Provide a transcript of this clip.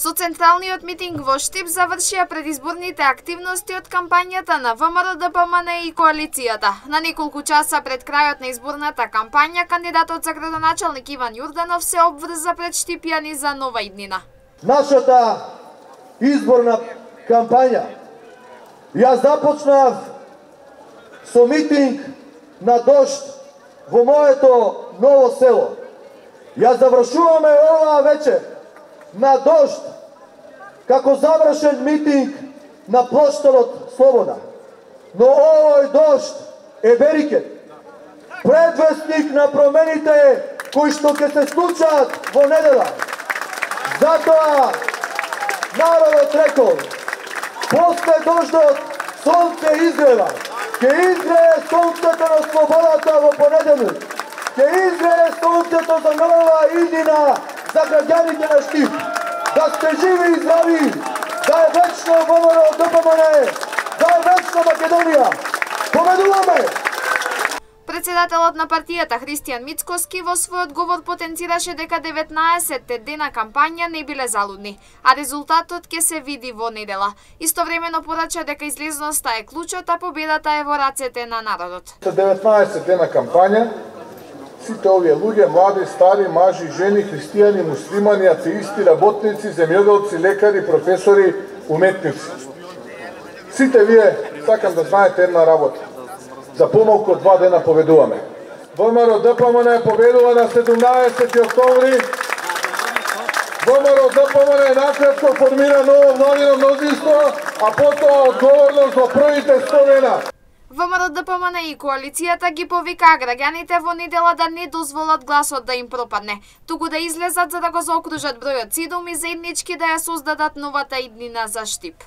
Со централниот митинг во Штип завршија предизборните активности од кампањата на ВМРО ДПМН и коалицијата. На неколку часа пред крајот на изборната кампања, кандидатот за градоначалник Иван Јурданов се обврза пред штипјани за нова иднина. Нашата изборна кампања ја започнав со митинг на дожд во моето ново село. Ја завршуваме оваа вечер на дожд, како завршен митинг на плоштадот Слобода. Но овој дожд е берикет, предвестник на промените кои што ќе се случат во недела. Затоа народот рекол, после дождот сонце изгрева, ќе изгрее сонцето на слободата во понеделник, ќе изгрее сонцето за нова иднина за граѓаните на Штип. Да сте живи и здрави, да е вечно ВМРО ДПМН, да е вечно Македонија. Победуваме! Председателот на партијата Христијан Мицкоски во својот говор потенцираше дека 19 дена кампања не биле залудни, а резултатот ќе се види во недела. Истовремено порача дека излезноста е клучот, а победата е во рацете на народот. 19 дена кампања, сите овие луѓе, млади, стари, мажи, жени, христијани, муслимани, атеисти, работници, земјоделци, лекари, професори, уметници. Сите вие сакам да знаете една работа. За помалку од 2 дена победуваме. ВМРО ДПМН победува на 17 октомври. ВМРО ДПМН накратко формира ново владино мнозинство, а потоа одговорност во првите 100 дена. ВМРО ДПМН и коалицијата ги повикаа граѓаните во недела да не дозволат гласот да им пропадне, туку да излезат за да го заокружат бројот 7 и заеднички да ја создадат новата иднина за Штип.